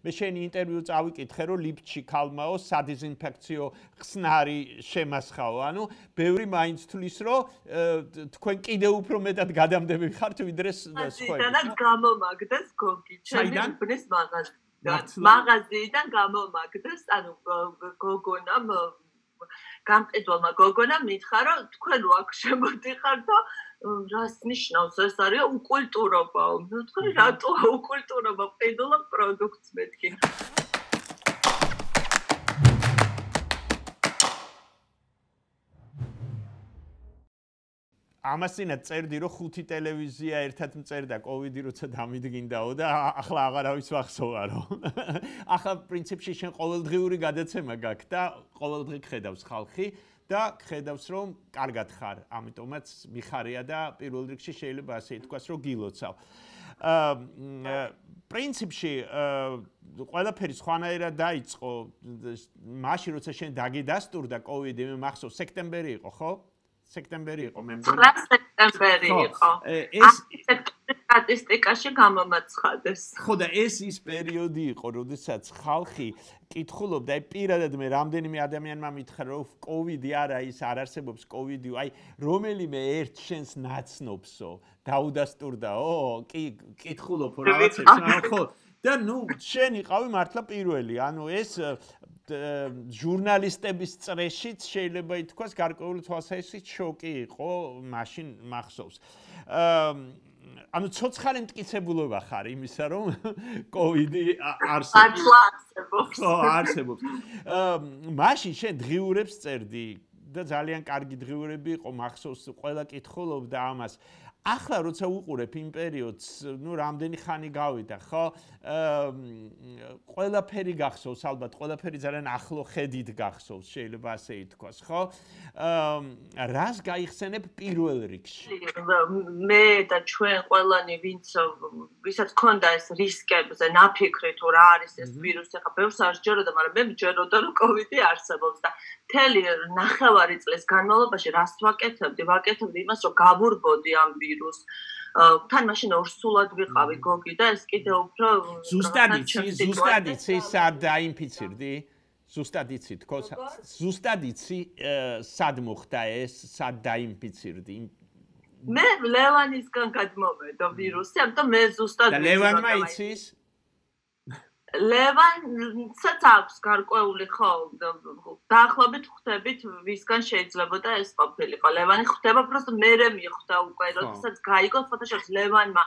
მე შენი ინტერვიუ წავიკითხე, რომ ლიფტში ქალმაო სადიზინფექციო ხსნარი შემასხაო. ანუ ბევრი მაინც თulis, რომ თქვენ კიდევ უფრო მეტად გადამდები ხართ, ვიდრე სხვები. და გამომაგდეს გოგი, ჩემი უბნის მაღაზიიდან გამომაგდეს, ანუ გოგონამ გამყიდველმა გოგონამ მითხრა, რომ თქვენ აქ შემოდიხართ და რას ნიშნავს ეს არის უკულტურობაო. მე ვთქვი, რატოა უკულტურობა ყიდულობ პროდუქტს მეთქი. ამასინად წერდი, რომ 5 ტელევიზია ერთად მწერდა კოვიდი როცა დამიდგინდაო და ახლა აღარავის ვახსოვარო. ახლა პრინციპში შენ ყოველდღიური გადაცემა გაქვს და ყოველდღე ხედავს ხალხი და ხედავს რომ კარგად ხარ, ამიტომაც მიხარია და პირველ რიგში შეიძლება ასე ითქვას, რომ გილოცავ. პრინციპში ყველაფერი სხვანაირად დაიწყო მაშინ როცა შენ დაგიდასტურდა კოვიდი, მე მახსოვს სექტემბერი იყო, ხო? სექტემბერი იყო მე მგონი. სექტემბერი იყო. ეს სტატისტიკაში გამომაცხადეს. ხო და ეს ის პერიოდი იყო, როდესაც ხალხი კითხულობდა, აი პირადად მე რამდენიმე ადამიანმა მითხრა, რომ კოვიდი არა ის არ არსებობს კოვიდი, აი რომელიმე ერთ შენს ნაცნობსო დაუდასტურდაო? კი, კითხულობ რაღაცებს, ხო. და ნუ შენ იყავი მართლა პირველი, ანუ ეს ჟურნალისტების წრეშიც შეიძლება ითქვას გარკვეული თვალსაზრისით შოკი იყო მაშინ მახსოვს. ანუ ცოცხალი მტკიცებულობა ხარ იმისა, რომ კოვიდი არსებობს. ხო, არსებობს. მაშინ შენ დღიურებს წერდი და ძალიან კარგი დღიურები იყო, მახსოვს ყველა კითხულობდა ამას. ახლა როცა უყურებ იმ პერიოდს, ნუ რამდენი ხანი გავიდა, ხო? ყველაფერი გახსოვს, ალბათ ყველაფერი ძალიან ახლო ხედით გახსოვს, შეიძლება ასე ითქვას, ხო? რას გაიხსენებ პირველ რიგში? მე და ჩვენ ყველანი ვისაც ქონდა ეს რისკებზე ნაფიქრი თუ რა არის ეს ვირუსი, ხა ბევრს არ სჯეროდა, მაგრამ მე მჯეროდა რომ კოვიდი არსებობს და მთელი ნახევარი წლის განმავლობაში რას ვაკეთებდი იმას, რომ გავურბოდი ამ ვირუსს. თან მაშინ ორსულად ვიყავი გოგი და ეს კიდევ უფრო ზუსტად იცი სად დაინფიცირდი? ზუსტად იცი თქო? ზუსტად იცი სად მოხდა ეს, სად დაინფიცირდი? მე ლევანისგან გადმოვედა ვირუსი, ამიტომ მე ზუსტად და ლევანმა იცის? ლევანსაც აქვს გარკვეული ხო დაახლოებით ხვდებით ვისგან შეიძლებოდა ეს ყოფილიყო. ლევანი ხვდება, просто მერე მიხვდა უკვე, როდესაც გაიგო ფოტოშოპს ლევანმა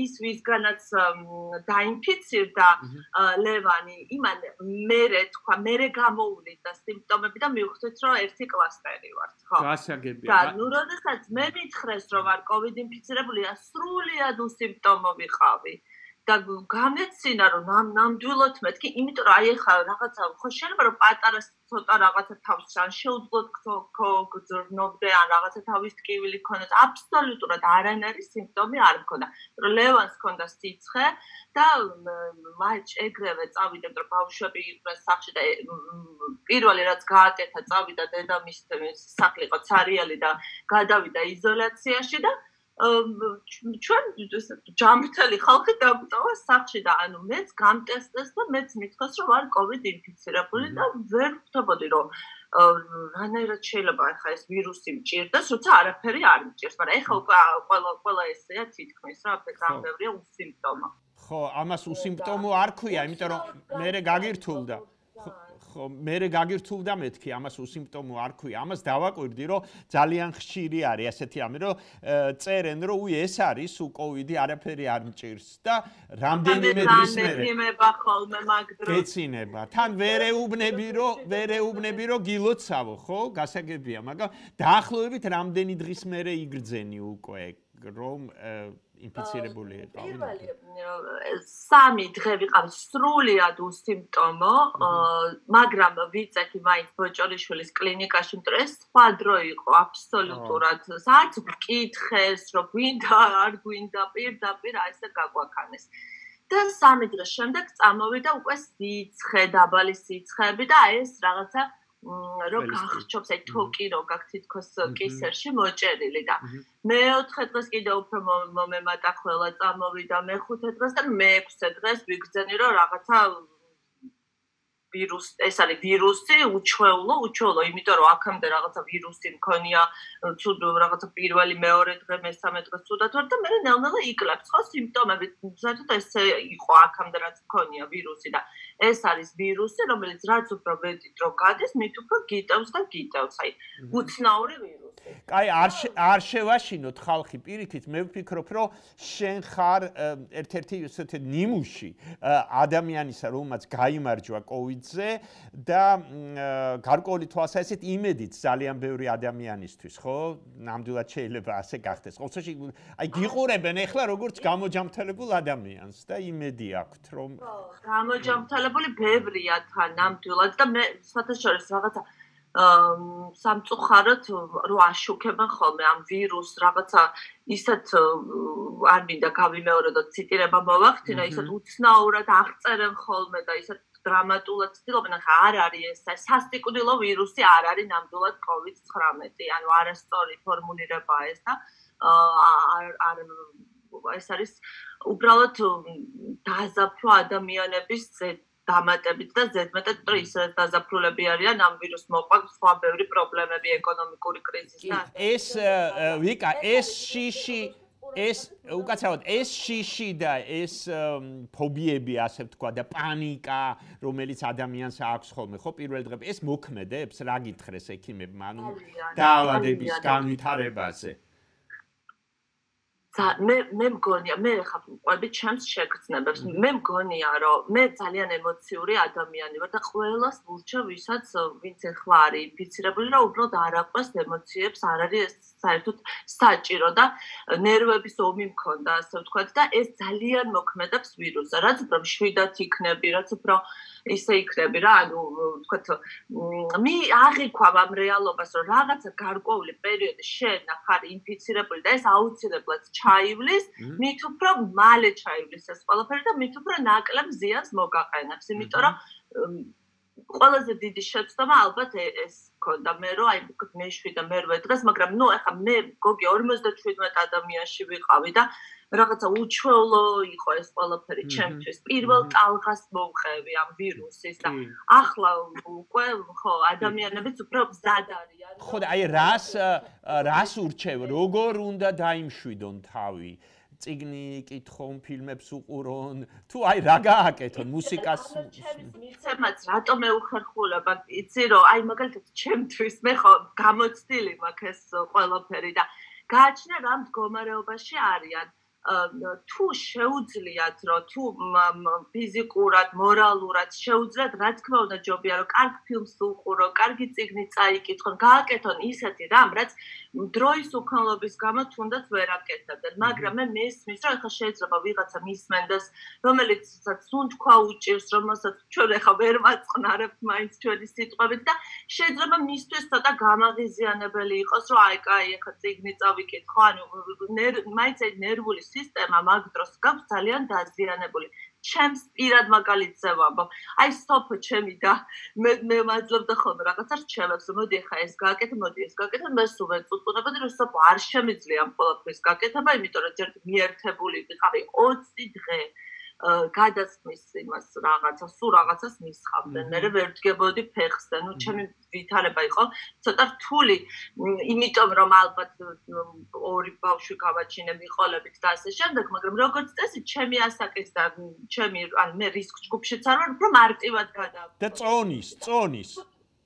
ის ვისგანაც დაინფიცირდა ლევანი, იმან მერე გამოუვიდა სიმპტომები და მივხვდით, რომ ერთი კლასტერი ვართ, ხო? გასაგებია. და ნუ როდესაც მე მითხრეს, რომ ვარ კოვიდ ინფიცირებული, სრულიად უსიმპტომო ვიყავი. და გამეცინა რომ ნამდვილად მეთქი, იმიტომ რომ აი ახლა რაღაცა ხო შეიძლება რომ პატარა ცოტა რაღაცა თავს ან შეუძლოდ გძრნობდე ან რაღაცა თავის ტკივილი ქონდეს, აბსოლუტურად არანაირი სიმპტომი არ მქონდა. რომ ლევანს ქონდა სიცხე და მაინც ეგრევე წავიდა, რომ ბავშვები იყვნენ სახლში და პირველი რაც გააკეთა, წავიდა დედამისის სახლი იყო ცარიელი და გადავიდა იზოლაციაში და ჩვენ ჯამრთელი ხალხი დაგვიტოვა სახლში და ანუ მეც გამტესტეს და მეც მithქვას რომ ვარ კოვიდ ინფიცირებული და ვერ ვხვდებოდი რომ რანაირად შეიძლება ახლა ეს ვირუსი მჭირდეს, როცა არაფერი არ მჭირს, მაგრამ ახლა უკვე ყველა ესეა თითქმის რა ბევრია უსიმპტომო. ხო, ამას უსიმპტომო არ ქვია, იმიტომ რომ მერე გაგირთულდა. ხო, მერე გაგირთულდა მეთქი, ამას უსიმპტომო არ ქვია. ამას დავაკვირდი, რომ ძალიან ხშირი არის ასეთი ამი, რომ წერენ, რომ უი ეს არის კოვიდი, არაფერი არ მჭირს და რამდენიმე დღის მერე გეცინება. თან ვერ ეუბნები, რომ გილოცავო, ხო? გასაგებია, მაგრამ დაახლოებით რამდენი დღის მერე იგრძენი უკვე, რომ ინფიცირებული იყავი. სამი დღე ვიყავი სრულიად უსიმპტომო, მაგრამ ვიწექი მაინც ბოჭორიშვილის კლინიკაში, იმიტომ ეს სხვა დრო იყო აბსოლუტურად. საერთოდ ვკითხეს, რომ გვინდა, არ გვინდა, პირდაპირ ასე გაგვაქანეს. და სამი დღის შემდეგ წამოვიდა უკვე სიცხე, დაბალი სიცხეები და ეს რაღაცა რო გახჩობს აი თოკი რო გაქვს თითქოს კისერში მოჭერილი და მეოთხე დღეს კიდე უფრო მომემატა ყველა წამოვიდა მეხუთე დღეს და მეექვსე დღეს ვიგრძენი რომ რაღაცა ვირუსი ეს არის ვირუსი უჩვეულო იმიტომ რომ აქამდე რაღაცა ვირუსი მქონია ცუდ რაღაცა პირველი მეორე დღე მესამე დღე ცუდად ვარ და მე ნელ-ნელა იკლებს ხო სიმპტომები საერთოდ ესე იყო აქამდე რაც მქონია ვირუსი და ეს არის ვირუსი რომელიც რაც უფრო მეტი დრო გადის მით უფრო გიტევს და გიტევს აი უცნაური ვირუსი კაი არ შევაშინოთ ხალხი პირიქით მე ვფიქრობ რომ შენ ხარ ერთ-ერთი ესეთი ნიმუში ადამიანისა რომელმაც გაიმარჯვა კოვიდზე და გარკვეული თვალსაზრისით იმედით ძალიან ბევრი ადამიანისთვის ხო ნამდვილად შეიძლება ასე გახდეს ყოველ შემთხვევაში აი გიყურებენ ეხლა როგორც გამოჯამთელებულ ადამიანს და იმედი აქვთ რომ გამოჯამთელებული ბევრია თან ნამდვილად და მე საერთოდ რაღაცა სამწუხაროდ რო აშუქებენ ხოლმე ამ ვირუსს რაღაცა ისეთ არ მინდა გავიმეორებოდ ციტირება მოვახდინო ისეთ უცნაურად აღწერენ ხოლმე და ისეთ დრამატულად ცდილობენ ახლა არ არის ეს სასტიკუდილო ვირუსი არ არის ნამდვილად COVID-19 ანუ არასწორი ფორმულირებაა ეს და არ ეს არის უბრალოდ დაზაფხვა ადამიანების დამატებით და ზედმეტად რომ ისე დაზაფხულები არიან ამ ვირუსს მოყავს სხვა ბევრი პრობლემები ეკონომიკური კრიზისი და ეს ვიკა ეს შიში ეს უკაცრავად ეს შიში და ეს ფობიები ასე ვთქვა და პანიკა რომელიც ადამიანს აქვს ხოლმე ხო პირველ დღეებში ეს მოქმედებს რა გითხრეს ექიმებმა ანუ დაავადების განვითარებაზე მე მგონია მე ხა ყვები ჩემს შეგრძნებებს მე მგონია რომ მე ძალიან ემოციური ადამიანი ვარ და ყველას ვურჩევ ვისაც ვინც ახლა არის ინფიცირებული რომ უბრალოდ არ აყვეს ემოციებს არ არის საერთოდ საჭირო და ნერვების ომი მქონდა ასე ვთქვათ და ეს ძალიან მოქმედებს ვირუსზე რაც უფრო მშვიდად იქნები რაც უფრო ისე იქნები რა ანუ ვთქვათ აღიქვამ ამ რეალობას რომ რაღაცა გარკვეული პერიოდი შენ ხარ ინფიცირებული და ეს აუცილებლად ჩაივლის მით უფრო მალე ჩაივლის ეს ყველაფერი და მით უფრო ნაკლებ ზიანს მოგაყენებს იმიტომ რომ ყველაზე დიდი შეცდომა ალბათ ეს ქონდა მე რომ აი მე-7 და მე-8 დღეს მაგრამ ნუ ახლა მე გოგი 57 ადამიანში ვიყავი და რაღაცა უჩვეულო იყო ეს ყველაფერი ჩემთვის პირველ ტალღას მოვხევი ამ ვირუსის და ახლა უკვე ხო ადამიანებიც უფრო მზად არიან ხო და აი რას ურჩევ როგორ უნდა დაიმშვიდონ თავი წიგნი კითხონ ფილმებს უყურონ თუ აი რა გააკეთონ მუსიკას მიცემაც რატომ მეუხერხულება იცი რომ აი მაგალითად ჩემთვის მე ხო გამოცდილი მაქვს ეს ყველაფერი და გააჩნია რა მდგომარეობაში არიან თუ შეუძლიათ რომ თუ ფიზიკურად, მორალურად შეუძლიათ, რა თქმა უნდა ჯობია რომ კარგ ფილმს უყურო, კარგი წიგნი წაიკითხონ, გააკეთონ ისეთი რამ, რაც დროის უქონლობის გამო თუნდაც ვერ აკეთებდნენ, მაგრამ მე მესმის რომ ახლა შეიძლება ვიღაცა მისმენდეს, რომელიცაც თუნთქვა უჭირს, რომელსაც ჩვენ ახლა ვერ მაწყნარებთ მაინც ჩვენი სიტყვებით და შეიძლება მისთვის ცოტა გამაღიზიანებელი იყოს, რომ აი კაი, ახლა წიგნი წავიკითხო, ანუ მაინც აი ნერვული სისტემა მაგ დროს გაქვს ძალიან დაზიანებული. ჩემს პირად მაგალითზე ვამბობ. აი სოფო ჩემი და მე მაძლევდა ხოლმე რაღაცა რჩევებს, მოდი ახლა ეს გააკეთე, მოდი ეს გააკეთე, მე სულ ვეწუწუნებოდი, რომ სოფო არ შემიძლია ამ ყველაფრის გაკეთება, იმიტომ რომ ჯერ მიერთებული ვიყავი 20 დღე. გადასმის იმას რაღაცა, სულ რაღაცას მისხავდნენ. მე ვერ ვდგებოდი ფეხზე. ნუ ჩემი ვითარება იყო ცოტა რთული, იმიტომ რომ ალბათ ორი ბავშვი გავაჩინე მიყოლებით და ასე შემდეგ, მაგრამ როგორც წესი, ჩემი ასაკის და ჩემი ან მე რისკ ჯგუფშიც არ ვარ, უფრო მარტივად გადავიდა. და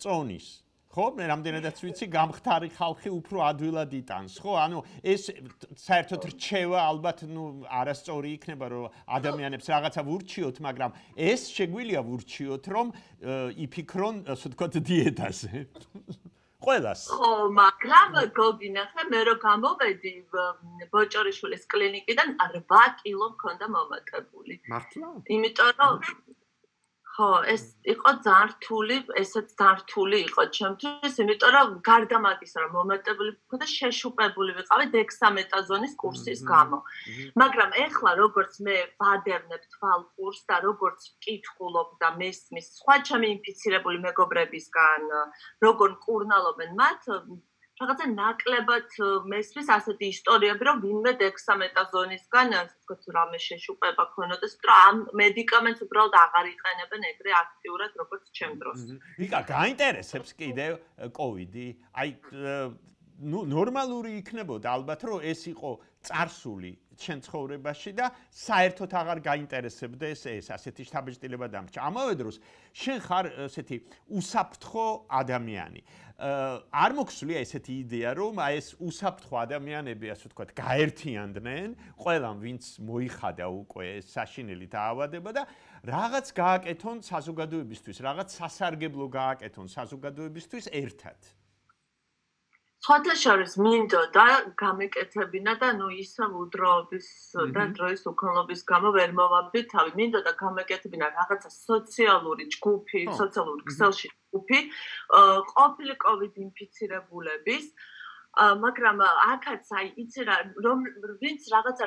წონის. ხო, მე რამდენადაც ვიცი, გამხდარი ხალხი უფრო ადვილად იტანს, ხო? ანუ ეს საერთოდ რჩევა ალბათ ნუ არასწორი იქნება, რომ ადამიანებს რაღაცა ვურჩიოთ, მაგრამ ეს შეგვიძლია ვურჩიოთ, რომ იფიქრონ, ასე ვთქვათ, დიეტაზე. ყველას. ხო, მაგრამ გოგინა, ხა მე რო გამოვედი ბოჭორიშვილის კლინიკიდან 8 კილო მქონდა მომატებული. მართლა? იმიტომ რომ ხო, ეს იყო ძალიან რთული, ესეც ძალიან რთული იყო ჩემთვის, იმიტომ რომ გარდა მაგისა, რომ მომეტებული ვიყავი და შეშუპებული ვიყავი დექსამეტაზონის კურსის გამო. მაგრამ ეხლა როგორც მე ვადევნებ თვალყურს და როგორც ვკითხულობ და მესმის სხვა ჩემი ინფიცირებული მეგობრებისგან, როგორ მკურნალობენ მათ, რაღაცა ნაკლებად მესმის ასეთი ისტორიები, რომ ვინმე დექსამეტაზონისგან, ასე ვთქვათ, რამე შეშუპება ქონოდეს, რომ ამ მედიკამენტს უბრალოდ აღარ იყენებენ ეგრე აქტიურად, როგორც ჩემ დროს. ვიკა, გაინტერესებს კიდევ კოვიდი? აი, ნორმალური იქნებოდა ალბათ, რომ ეს იყო წარსული ჩვენ ცხოვრებაში და საერთოდ აღარ გაინტერესებდეს ეს ასეთი შთაბეჭდილება დამრჩა. ამავე დროს შენ ხარ ესეთი უსაფრთხო ადამიანი. არ მოგვსვლია ესეთი იდეა, რომ აი ეს უსაფრთხო ადამიანები, ასე ვთქვათ, გაერთიანდნენ, ყველამ ვინც მოიხადა უკვე საშინელი დაავადება და რაღაც გააკეთონ საზოგადოებისთვის, რაღაც სასარგებლო გააკეთონ საზოგადოებისთვის ერთად. სხვათა შორის მინდოდა გამეკეთებინა და ისევ udroობის და დროის უქონლობის გამო ვერ მოვაბდი თავი. მინდოდა გამეკეთებინა რაღაცა სოციალური ჯგუფი, სოციალური ქსელში ჯგუფი, ყოფილი COVID ინფიცირებულების, მაგრამ აქაც აი იცი რა, რომ ვინც რაღაცა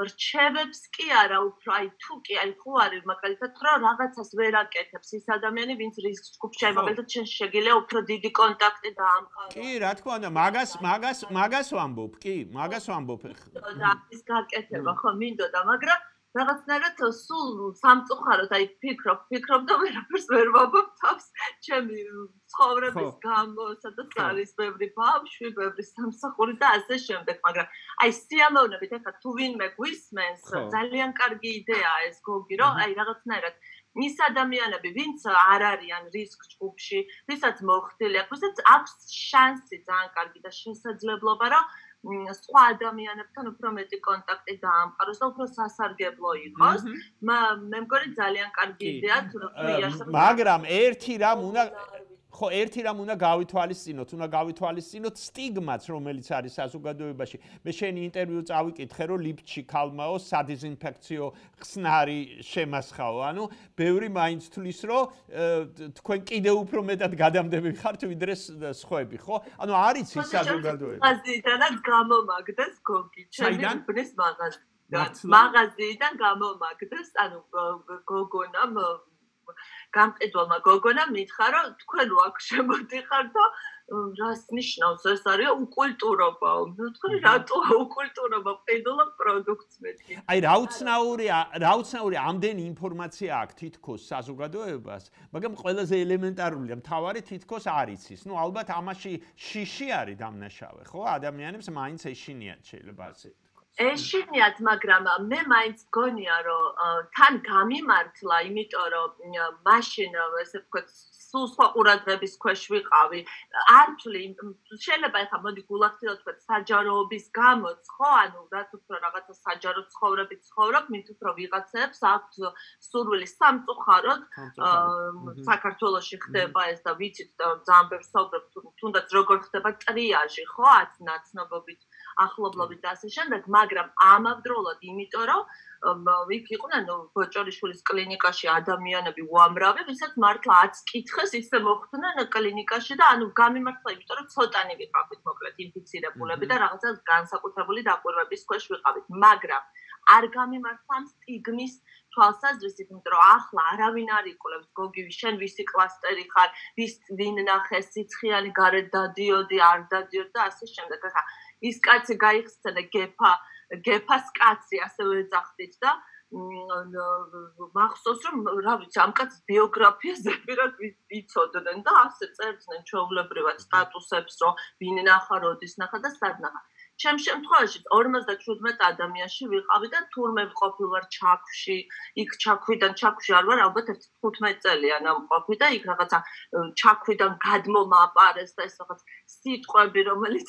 რჩევებს კი არა, უფრო აი თუ კი აი ხო არის მაგალითად რომ რაღაცას ვერ აკეთებს ის ადამიანი, ვინც რისკ ჯგუფში არის, მაგალითად შენ შეგიძლია უფრო დიდი კონტაქტი დაამყარო. კი, რა თქმა უნდა, მაგას ვამბობ, კი, მაგას ვამბობ. და ის გაკეთება ხო მინდოდა, მაგრამ რაღაცნაირად სულ სამწუხაროდ აი ფიქრობ და ვერაფერს ვერ ვამბობ თავს ჩემი ცხოვრების გამო, სადაც არის ბევრი ბავშვი, ბევრი სამსახური და ასე შემდეგ, მაგრამ აი სიამოვნებით ახლა თუ ვინმე გვისმენს, ძალიან კარგი იდეაა ეს გოგი, რომ აი რაღაცნაირად ის ადამიანები, ვინც არ არიან რისკ ჯგუფში, ვისაც მოხდილი აქვს, ვისაც აქვს შანსი ძალიან კარგი და შესაძლებლობა, რომ სხვა ადამიანებთან უფრო მეტი კონტაქტი დაამყაროს და უფრო სასარგებლო იყოს. მე მგონი ძალიან კარგი იდეაა, თუ მაგრამ ერთი რამ უნდა გავითვალისწინოთ, სტიგმაც, რომელიც არის საზოგადოებაში. მე შენი ინტერვიუ წავიკითხე, რომ ლიფტში ქალმაო სადიზინფექციო ხსნარი შემასხაო. ანუ ბევრი მაინც თulis, რომ თქვენ კიდევ უფრო მეტად გადამდები ხართ, ვიდრე სხვები, ხო? ანუ არის ის საზოგადოება. მაღაზიიდანაც გამომაგდეს გოგი, ჩემი უბნის მაღაზიიდან გამომაგდეს, ანუ გოგონამ გამყიდვალმა გოგონამ მითხრა, რომ თქვენ აქ შემოდიხარ და რას ნიშნავს ეს არის უკულტურობაო. მე ვთქვი, რატოა უკულტურობა, ყიდულობ პროდუქტს მეთქი. აი რა უცნაური ამდენი ინფორმაცია აქვს თითქოს საზოგადოებას, მაგრამ ყველაზე ელემენტარულია, მთავარი თითქოს არ იცის. ნუ ალბათ ამაში შიში არის დამნაშავე, ხო? ადამიანებს მაინც ეშინიათ შეიძლება ასე. ეშინიათ, მაგრამ მე მაინც გონია, რომ თან გამიმართლა, იმიტომ რომ მაშინ ესე ვთქვათ, სულ სხვა ყურადღების ქვეშ ვიყავი. არ ვთვლი, შეიძლება ახლა მოდი გულახდილად ვთქვათ, საჯაროობის გამოც, ხო, ანუ რაც უფრო რაღაცა საჯარო ცხოვრებით ცხოვრობ, მით უფრო ვიღაცებს აქვთ სურვილი სამწუხაროდ საქართველოში ხდება ეს და ვიცით და ძალიან ბევრს საუბრობ, თუნდაც როგორ ხდება ტრიაჟი, ხო, 10 ნაცნობობით ახლობლობით და ასე შემდეგ, მაგრამ ამავდროულად, იმიტომ რომ იქ იყვნენ ბოჭორიშვილის კლინიკაში ადამიანები უამრავი, ვისაც მართლა 10 კითხეს ისე მოხვდნენ კლინიკაში და ანუ გამიმართლა, იმიტომ რომ ცოტანი ვიყავით მოკლედ ინფიცირებულები და რაღაცა განსაკუთრებული დაკვირვების ქვეშ ვიყავით, მაგრამ არ გამიმართლა სტიგმის თვალსაზრისით, იმიტომ რომ ახლა არავინ არ იყოლებს გოგივი, შენ ვისი კლასტერი ხარ, ვინ ნახეს სიცხიანი გარეთ დადიოდი, არ დადიოდი და ასე შემდეგ. ახლა ის კაცი გაიხსნა გეფას კაცი ასევე ეძახდით და მახსოვს რომ რა ვიცი ამ კაცის ბიოგრაფიაზე პირად ვიცოდნენ და ასე წერდნენ ჩვეულებრივად სტატუსებს რომ ვინ ნახა, როდის ნახა და სად ნახა. ჩემ შემთხვევაში 57 ადამიანში ვიყავი და თურმე ვყოფილ ვარ ჩაქვში, იქ ჩაქვში არ ვარ, ალბათ 15 წელია ნამყოფი და იქ რაღაცა ჩაქვიდან გადმომაპარეს და ეს რაღაც სიტყვები, რომელიც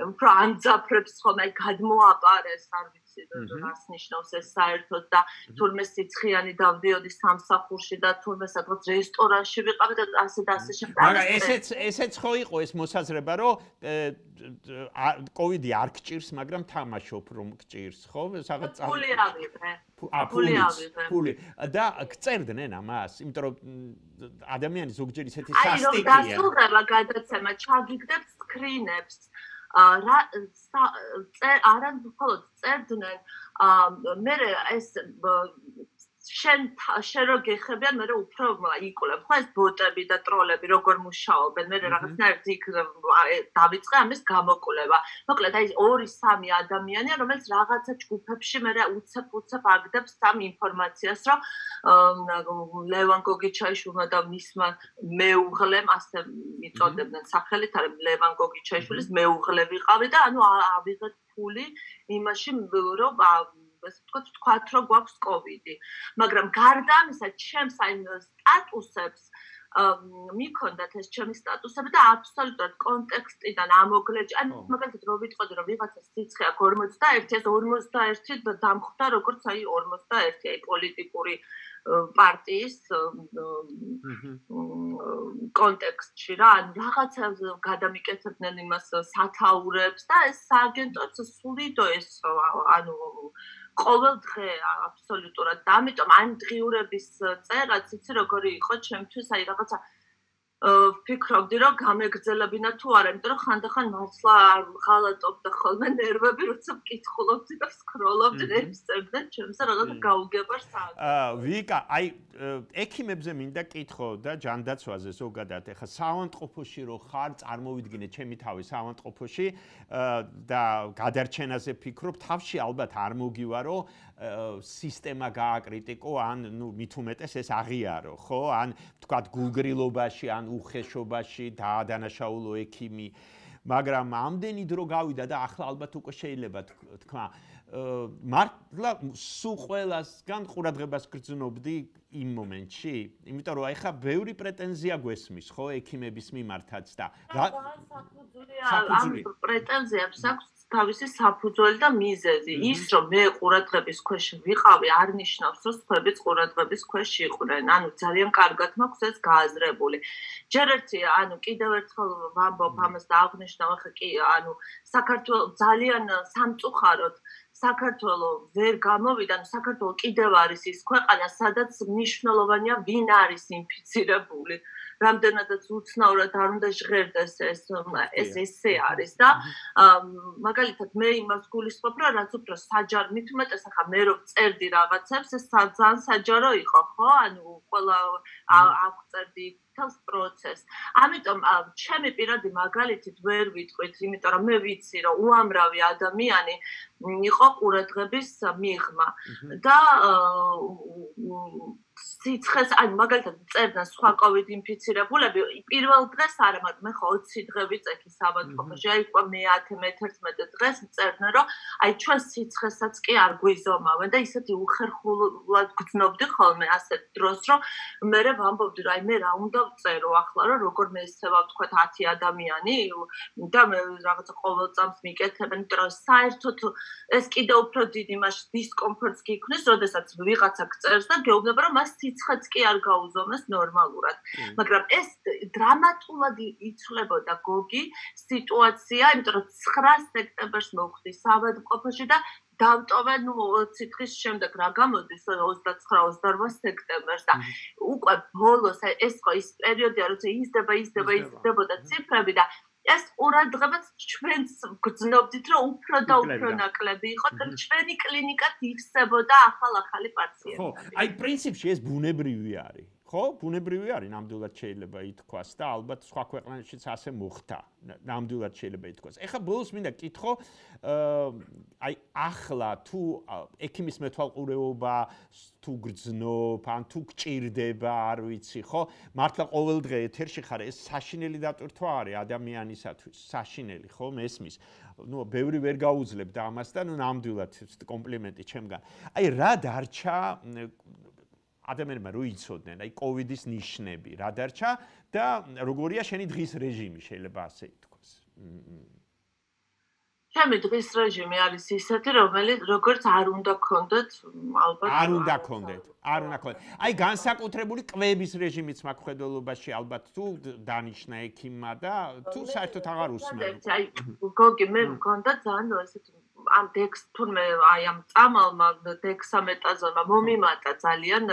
უფრო ანძაფრებს ხოლმე, გადმოაპარეს, არ ვიცი ვიცი რას ნიშნავს ეს საერთოდ და თურმე სიცხიანი დავდიოდი სამსახურში და თურმე სადღაც რესტორანში ვიყავი და ასე და ასე შემდეგ. მაგრამ ესეც ხო იყო ეს მოსაზრება, რომ COVID-ი არ გჭირს, მაგრამ თამაშობ რომ გჭირს, ხო? სადღაც ფული ავიღე. ფული და გწერდნენ ამას, იმიტომ რომ ადამიანი ზოგჯერ ისეთი სასტიკია. აი, რომ დასრულდება გადაცემა, ჩაგიგდებ სკრინებს. არან მხოლოდ წერდნენ, მე ეს შენ რო გეხებიან, მე უფრო იკვლევ, ხო ეს ბოტები და ტროლები როგორ მუშაობენ, მე რაღაცნაირად იქ დავიწყე ამის გამოკვლევა. მოკლედ აი 2-3 ადამიანია, რომელიც რაღაცა ჯგუფებში მე უცებ აგდებს ამ ინფორმაციას, რომ ლევან გოგიჩაიშვილმა და მისმა მეუღლემ ასე მიწოდებდნენ სახელით, არა ლევან გოგიჩაიშვილის მეუღლე ვიყავი და ანუ ავიღეთ ფული იმაში რომ ასე ვთქვათ, რომ გვაქვს COVID-ი. მაგრამ გარდა ამისა, ჩემს აი სტატუსებს მიქონდათ ეს ჩემი სტატუსები და აბსოლუტურად კონტექსტიდან ამოგლეჯ. ანუ მაგალითად რო ვიტყოდი, რომ ვიღაცა სიცხე აქვს 41, ეს 41 დამხვდა როგორც აი 41 აი პოლიტიკური პარტიის კონტექსტში რა, ანუ რაღაცა გადამიკეთებდნენ იმას სათაურებს და ეს სააგენტოც სულიდო ეს ანუ ყოველ დღე აბსოლუტურად და ამიტომ ამ დღიურების წერაც იცი როგორი იყო ჩემთვის აი რაღაცა ვფიქრობდი რომ გამეგრძელებინა თუ არა იმიტომ რომ ხანდახან მართლა ღალატობდა ხოლმე ნერვები როცა ვკითხულობდი და ვსკროლობდი წერდნენ ჩემსა რაღაცა გაუგებარ საათს ვიკა აი ექიმებზე მინდა კითხო და ჯანდაცვაზე ზოგადად ეხა საავადმყოფოში რო ხარ წარმოვიდგინე ჩემი თავი საავადმყოფოში და გადარჩენაზე ფიქრობ თავში ალბათ არ მოგივარო სისტემა გააკრიტიკო ან ნუ მით უმეტეს ეს აღიარო ხო ან თქვათ გულგრილობაში ან უხეშობაში დაადანაშაულო ექიმი მაგრამ ამდენი დრო გავიდა და ახლა ალბათ უკვე შეიძლება თქვა მართლა სულ ყველასგან ყურადღებას გრძნობდი იმ მომენტში იმიტომ რომ ეხა ბევრი პრეტენზია გვესმის ხო ექიმების მიმართაც და ამ პრეტენზიებს აქვს თავისი საფუძველი და მიზეზი ის რომ მე ყურადღების ქვეშ ვიყავი არ ნიშნავს რომ სხვაებიც ყურადღების ქვეშ იყვნენ ანუ ძალიან კარგად მაქვს ეს გააზრებული ჯერ ერთი ანუ კიდევ ერთხელ ვამბობ ამას და აღნიშნავ ახლა კი ანუ საქართველოს ძალიან სამწუხაროდ საქართველოს ვერ გამოვიდა, საქართველოს კიდევ არის ის ქვეყანა, სადაც მნიშვნელოვანია ვინ არის ინფიცირებული. რამდენადაც უცნაურად არ უნდა ჟღერდეს ეს ესე არის და მაგალითად მე იმას გულისხმობ, რომ რაც უფრო საჯარო, მით უმეტეს ახლა მე რომ წერდი რაღაცებს, ეს ძალიან საჯარო იყო, ხო? ანუ ყველა აღწერდი თავს პროცესს. ამიტომ ჩემი პირადი მაგალითით ვერ ვიტყვით, იმიტომ რომ მე ვიცი, რომ უამრავი ადამიანი იყო ყურადღების მიღმა და სიცხეს ან მაგალითად წერდნენ სხვა COVID ინფიცირებულები პირველ დღეს არა, მაგრამ მე ხო 20 დღე ვიწექი საავადმყოფოში, აი უკვე მე-11 დღეს წერდნენ, რომ აი ჩვენ სიცხესაც კი არ გვიზომავენ და ისეთი უხერხულად გძნობდი ხოლმე ასეთ დროს, რომ მე ვამბობდი, რომ აი მე რა უნდა ვწერო ახლა, რომ როგორ მე ესევა ვთქვათ 10 ადამიანი და მე რაღაცა ყოველ წამს მიკეთებენ, იმიტომ რომ საერთოდ ეს კიდევ უფრო დიდი მასშტაბის დისკომფორტს გიქმნის, როდესაც ვიღაცა გწერს და გეუბნება, რომ მას სიცხეც კი არ გაუზომეს ნორმალურად. მაგრამ ეს დრამატულად იცვლებოდა გოგი სიტუაცია, იმიტომ რომ 9 სექტემბერს მოვხდი საავადმყოფოში და დავტოვე ნუ 20 დღის შემდეგ რა გამოდის 29-28 სექტემბერს და უკვე ბოლოს ეს ხო ის პერიოდია როცა იზრდებოდა ციფრები და ეს ყურადღებაც ჩვენს გრძნობდით რომ უფრო და უფრო ნაკლები იყო და ჩვენი კლინიკაც ივსებოდა ახალ-ახალი პაციენტები. ხო, აი პრინციპში ეს ბუნებრივი არის. ხო, ბუნებრივი არის, ნამდვილად შეიძლება ითქვას და ალბათ სხვა ქვეყნებშიც ასე მოხდა. ნამდვილად შეიძლება ითქვას. ეხლა ბოლოს მინდა კითხო, აი ახლა თუ ექიმის მეთვალყურეობა თუ გრძნობ, ან თუ გჭირდება, არ ვიცი, ხო? მართლა ყოველ დღე ეთერში ხარ, ეს საშინელი დატვირთვა არის ადამიანისათვის, საშინელი, ხო, მესმის. ნუ ბევრი ვერ გაუძლებ და ამას და ნუ ნამდვილად კომპლიმენტი ჩემგან. აი რა დარჩა ადამიანებმა რო იცოდნენ, აი COVID-ის ნიშნები, რა დარჩა და როგორია შენი დღის რეჟიმი, შეიძლება ასე ითქვას. ჩემი დღის რეჟიმი არის ისეთი, რომელიც როგორც არ უნდა გქონდეთ, ალბათ არ უნდა გქონდეთ. აი განსაკუთრებული კვების რეჟიმიც მაქვს ხედველობაში ალბათ თუ დანიშნა ექიმმა და თუ საერთოდ აღარ усმენ. აი გოგი მე მქონდა ძალიან ესეთი ამ თურმე აი ამ წამალმა დექსამეტაზონმა მომიმატა ძალიან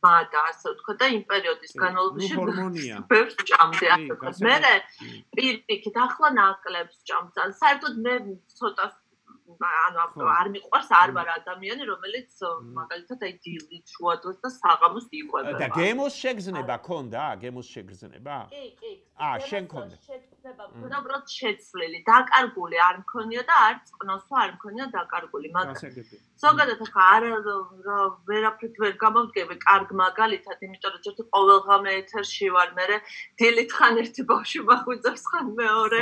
მადა ასე ვთქვა და იმ პერიოდის განმავლობაში ბევრს ჭამდი ასე ვთქვა. მე პირიქით ახლა ნაკლებს ჭამძან. საერთოდ მე ცოტა ანუ არ მიყვარს არ ვარ ადამიანი რომელიც მაგალითად აი დილით შუადღეს და საღამოს იყვება. და გემოს შეგრძნება ქონდა? გემოს შეგრძნება? კი. შენ ქონდა. შეგრძნება ქონდა უბრალოდ შეცვლილი. დაკარგული არ მქონია და არ წყნოსვა არ მქონია დაკარგული. მაგრამ ზოგადად ახლა არა ვერაფრით ვერ გამოვდგები კარგ მაგალითად, იმიტომ რომ ჯერ ყოველღამე ეთერში ვარ, მე დილით ხან ერთი ბავშვი მახვიძებს, ხან მეორე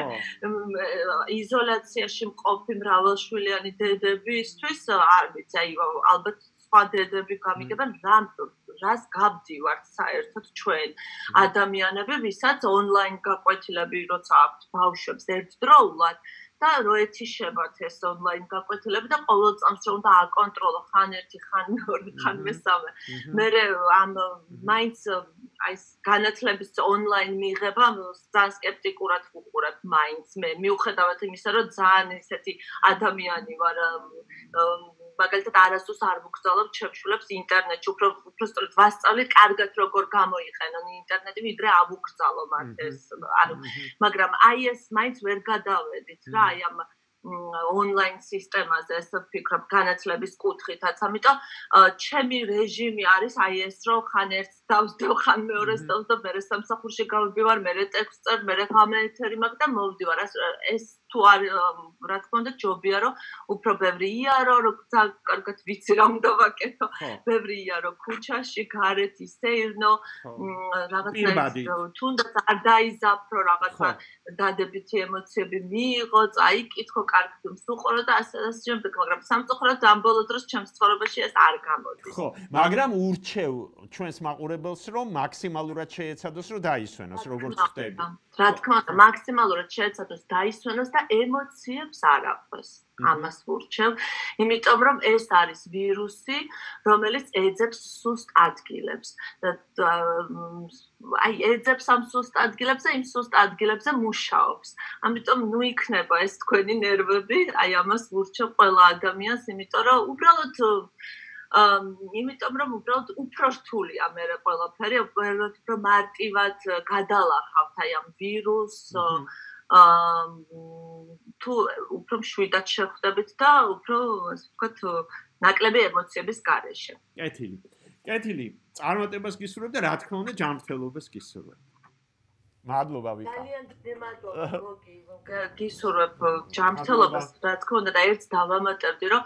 იზოლაციაში მყოფი მრავალშვილიანი დედებისთვის არ ვიცი, აი ალბათ სხვა დედები გამიგებენ რას გავდივართ საერთოდ ჩვენ ადამიანები, ვისაც ონლაინ გაკვეთილები როცა აქვთ ბავშვებს ერთდროულად და რო ეთიშებათ ეს ონლაინ გაკვეთილები და ყოველ წამს რომ უნდა აკონტროლო ხან ერთი, ხან მეორე, ხან მესამე. მე ამ მაინც აი განათლების ონლაინ მიღება ძალიან სკეპტიკურად ვუყურებ მაინც მე მიუხედავად იმისა რომ ძალიან ესეთი ადამიანი ვარ მაგალითად არასდროს არ მოგზავნებ ჩემშულებს ინტერნეტში უფრო სწორედ ვასწავლით კარგად როგორ გამოიყენონ ინტერნეტი ვიდრე ავუგზავნო მათ ეს მაგრამ აი ეს მაინც ვერ გადავედით რა აი ამ ონლაინ სისტემაზე ესე ვფიქრობ განათლების კუთხითაც ამიტომ ჩემი რეჟიმი არის აი ეს რომ ხან ერთს დავსდევ ხან მეორეს დავსდევ მე სამსახურში გავიბივარ მე ტექსტს წერ მე გამეთერი მაგ და მოვდივარ ეს თუ არ რა თქმა უნდა ჯობია რომ უფრო ბევრი იარო რომ კარგად ვიცი რა უნდა ვაკეთო ბევრი იარო ქუჩაში გარეთ ისეირნო რაღაცა თუნდაც არ დაიზაფრო რაღაცა დადებითი ემოციები მიიღო წაიკითხო კარგად მსუყურო და ასე შემდეგ მაგრამ სამწუხაროდ ამ ბოლო დროს ჩემს ცხოვრებაში ეს არ გამოდის ხო მაგრამ ურჩევ ჩვენს მაყურებელს რომ მაქსიმალურად შეეცადოს რომ დაისვენოს როგორც ხდები რა თქმა უნდა მაქსიმალურად შეეცადოს დაისვენოს და ემოციებს არ აყვეს ამას ვურჩევ იმიტომ რომ ეს არის ვირუსი რომელიც ეძებს სუსტ ადგილებს აი ეძებს ამ სუსტ ადგილებს და იმ სუსტ ადგილებზე მუშაობს ამიტომ ნუ იქნება ეს თქვენი ნერვები აი ამას ვურჩევ ყველა ადამიანს იმიტომ რომ უბრალოდ იმიტომ რომ უბრალოდ უფრო რთულია მე ყველაფერი უფრო მარტივად გადალახავთ აი ამ ვირუსს თუ უფრო მშვიდად შეხვდებით და უფრო ასე ვთქვათ ნაკლები ემოციების გარეშე. კეთილი, წარმატებას გისურვებ და რა თქმა უნდა ჯანმრთელობას გისურვებ. მადლობა ვიკა. ძალიან დიდი მადლობა გოგი. გისურვებ ჯანმრთელობას რა თქმა უნდა და ერთს დავამატებდი რომ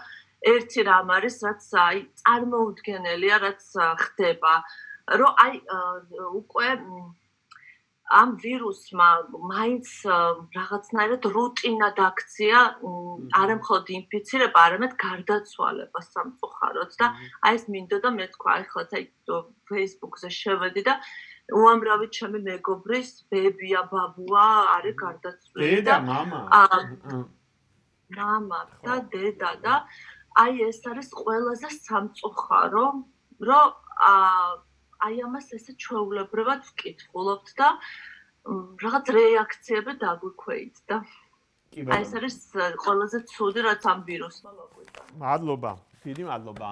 ერთი რამ არის რაც აი წარმოუდგენელია რაც ხდება რომ აი უკვე ამ ვირუსმა მაინც რაღაცნაირად რუტინად აქცია არა მხოლოდ ინფიცირება, არამედ გარდაცვალება სამწუხაროდ და აი ეს მინდოდა მე თქვა, აი ხლაც აი Facebook-ზე შევედი და უამრავი ჩემი მეგობრის ბებია, ბაბუა არის გარდაცვლილი და მამა და დედა და აი ეს არის ყველაზე სამწუხარო, რომ აი ამას ესე ჩვეულებრივად ვკითხულობთ და რაღაც რეაქციები დაგვიქვეით და აი ეს არის ყველაზე ცუდი რაც ამ ვირუსმა მოგვიწია. მადლობა, დიდი მადლობა.